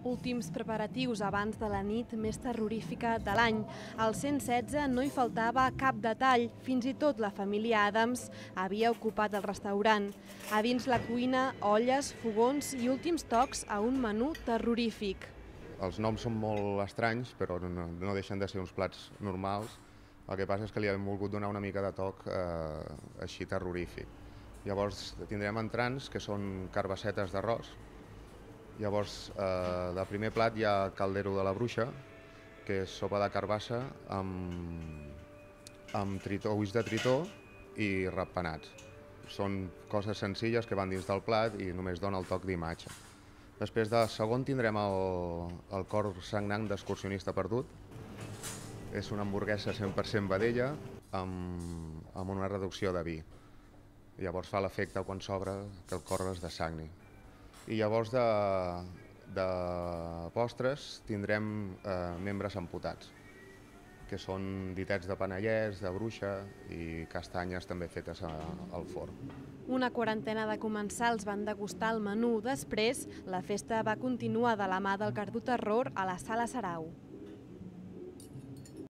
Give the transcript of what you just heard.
Últims preparatius abans de la nit més terrorífica de l'any. Al 116 no hi faltava cap detall, fins i tot la família Adams havia ocupat el restaurant. A dins la cuina, olles, fogons i últims tocs a un menú terrorífic. Els noms són molt estranys, però no deixen de ser uns plats normals. El que passa és que li hem volgut donar una mica de toc així terrorífic. Llavors tindrem entrants, que són carbassetes d'arròs. Llavors, de primer plat hi ha caldero de la bruixa, que és sopa de carbassa amb ulls de tritó i ratpenats. Són coses senzilles que van dins del plat i només dona el toc d'imatge. Després de segon tindrem el cor sagnant d'excursionista perdut. És una hamburguesa 100% vedella amb una reducció de vi. Llavors fa l'efecte quan s'obre que el cor es dessagni. I llavors de postres tindrem membres amputats, que són ditets de panellers, de bruixa i castanyes també fetes al forn. Una quarantena de comensals van degustar el menú. Després, la festa va continuar de la mà del Cardo Terror a la Sala Sarau.